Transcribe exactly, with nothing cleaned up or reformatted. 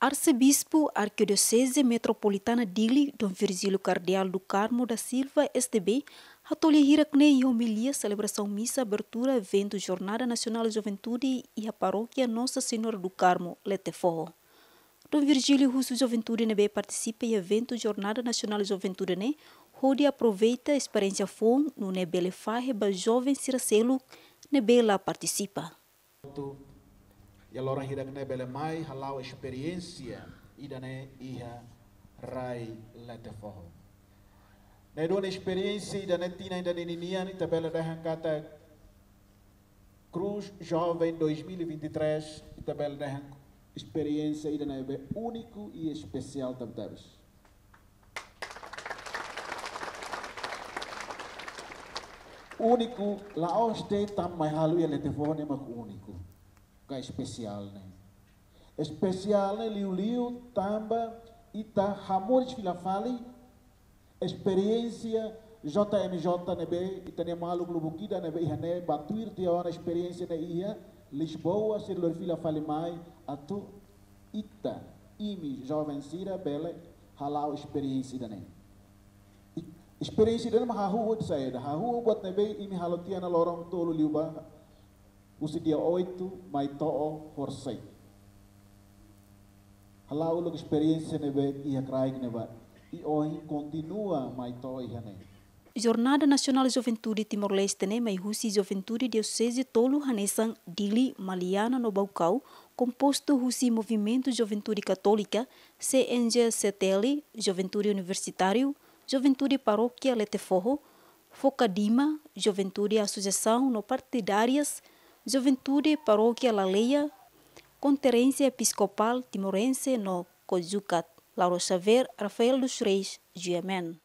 Arsebispu Arkidioseze Metropolitana Dili, Dom Virgílio Kardeál do Carmo da Silva, S D B, hato'o lia hirak-ne'e iha omilia selebrasaun misa abertura eventu Jornada Nasionál Juventude iha Parókia Nossa Senhora do Carmo, Letefoho. Dom Virgílio husu juventude ne'ebé partisipa iha eventu Jornada Nasionál Juventude ne'e hodi aproveita esperiénsia foun nune'e bele fahe ba joven sira seluk ne'ebé la partisipa. Iha loron hirak-ne'e bele mai hala'o esperiénsia ida-ne'e iha rai Letefoho. Ne'e duni esperiénsia ida-ne'e tinan ida-ne'e ninian, ita bele dehan katak Cruz Jovem dois mil e vinte e três, ita bele dehan esperiénsia ida-ne'ebé úniku i espesiál tebetebes. Úniku, la'ós de'it tanba mai halo iha Letefoho ne'e mak úniku. Ka espesiál ne'e. Espesiál ne'e liuliu tanba ita hamoris fila fali esperiénsia J M J ne'ebé, ita-nia maluk lubuk ida ne'ebé iha ne'e, ba tuir tiha ona esperiénsia ne'e iha Lisboa, sira lori fila fali mai, atu ita, imi joven sira bele hala'o esperiénsia ida-ne'e. I esperiénsia ida-ne'e mak hahú buat saida, hahú buat ne'ebé imi halo tiha ona loron tolu liubá, husi dia oito mai to'o horisehik. Hala'o uluk esperiénsia ne'ebé iha kraik ne'ebá, i ohin kontinua mai to'o iha ne'e. Jornada Nasionál Juventude Timor-Leste ne'e mai husi juventude dioseze tolu hanesan Dili, Maliana no Baucau, kompostu husi Movimentu Juventude Katólika, C N J C T L, Juventude Universitáriu, Juventude Parókia Letefoho, Fokadima, Juventude Asosiasaun Não Partidárias, Juventude Parókia Laleia, Konferénsia Episkopál Timorense no COJUCAT. Laura Xavier, Rafael dos Reis, G M N.